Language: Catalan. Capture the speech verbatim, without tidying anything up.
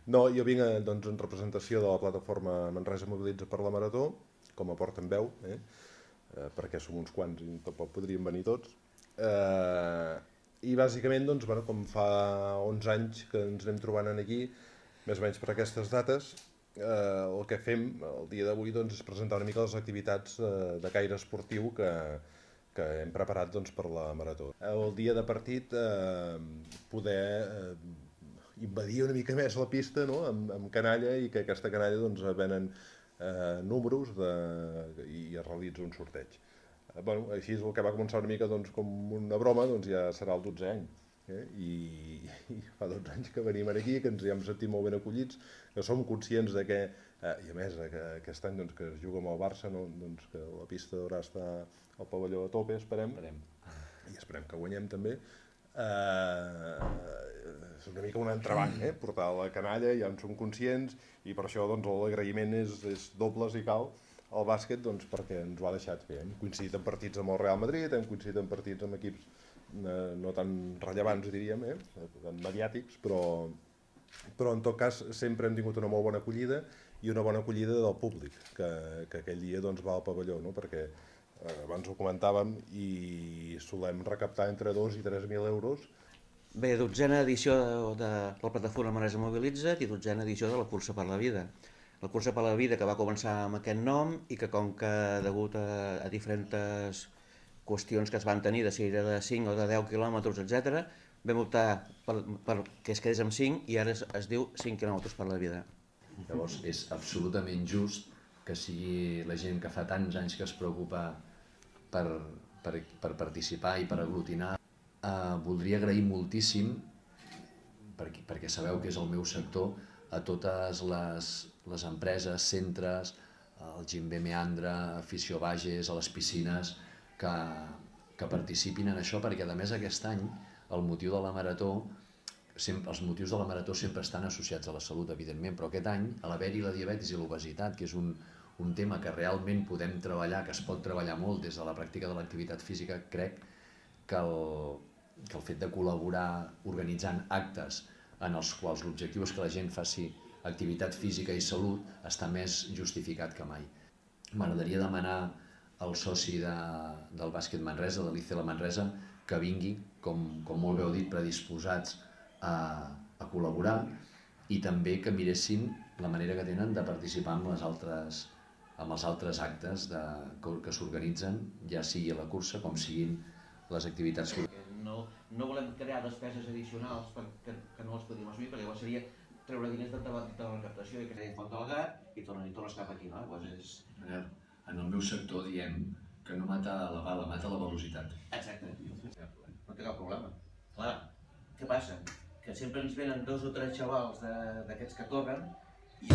No, jo vinc doncs, en representació de la plataforma Manresa Mobilitza per la Marató, com a portaveu, eh? eh, perquè som uns quants i tampoc podríem venir tots. Eh, I bàsicament, doncs, bueno, com fa onze anys que ens anem trobant aquí, més o menys per aquestes dates, eh, el que fem el dia d'avui doncs, és presentar una mica les activitats eh, de caire esportiu que, que hem preparat doncs, per la Marató. El dia de partit eh, poder eh, invadir una mica més la pista, no? amb, amb canalla, i que aquesta canalla doncs, venen eh, números de, i es realitza un sorteig. Eh, bueno, així és el que va començar una mica doncs, com una broma, doncs ja serà el dotzè any. Eh? I, I fa dotze anys que venim aquí, que ens hi hem sentit molt ben acollits, que som conscients de que, eh, i a més que aquest any doncs, que es juga amb el Barça, no? doncs, que la pista haurà estar al pavelló a tope, esperem, esperem. i esperem que guanyem també. Eh, és una mica un entrebanc, eh? portar la canalla, ja en som conscients, i per això doncs, l'agraïment és, és doble si cal al bàsquet, doncs, perquè ens ho ha deixat fer. Hem coincidit en partits amb el Real Madrid, hem coincidit en partits amb equips eh, no tan rellevants, diríem, eh? tan mediàtics, però, però en tot cas sempre hem tingut una molt bona acollida i una bona acollida del públic, que, que aquell dia doncs, va al pavelló, no? perquè eh, abans ho comentàvem i solem recaptar entre dos i tres mil euros. Bé, dotzena edició de, de la plataforma Manresa Mobilitza i dotzena edició de la Cursa per la Vida. La Cursa per la Vida que va començar amb aquest nom i que com que degut a, a diferents qüestions que es van tenir, de si era de cinc o de deu quilòmetres, etcètera, vam optar per, per que es quedés amb cinc i ara es, es diu cinc quilòmetres per la vida. Llavors és absolutament just que sigui la gent que fa tants anys que es preocupa per, per, per participar i per aglutinar. Uh, voldria agrair moltíssim, perquè, perquè sabeu que és el meu sector, a totes les, les empreses, centres, el Gim B Meandra, Afició Bages, a les piscines, que, que participin en això, perquè a més aquest any el motiu de la Marató, sempre, els motius de la Marató sempre estan associats a la salut, evidentment, però aquest any, a l'haver-hi la diabetis i l'obesitat, que és un, un tema que realment podem treballar, que es pot treballar molt des de la pràctica de l'activitat física, crec que el, que el fet de col·laborar organitzant actes en els quals l'objectiu és que la gent faci activitat física i salut està més justificat que mai. M'agradaria demanar al soci de, del bàsquet Manresa, de l'I C L Manresa, que vingui, com, com molt bé heu dit, predisposats a, a col·laborar, i també que miressin la manera que tenen de participar amb, les altres, amb els altres actes de, que, que s'organitzen, ja sigui a la cursa com siguin les activitats que... No, no volem crear despeses addicionals que, que no les podíem assumir, perquè llavors seria treure diners de, de, de la recaptació i que en font del gat i tornes, i tornes cap aquí, no? Llavors és... En el meu sector diem que no mata la bala, mata la velocitat. Exacte. No té cap problema. Clar, què passa? Que sempre ens venen dos o tres xavals d'aquests que corren i...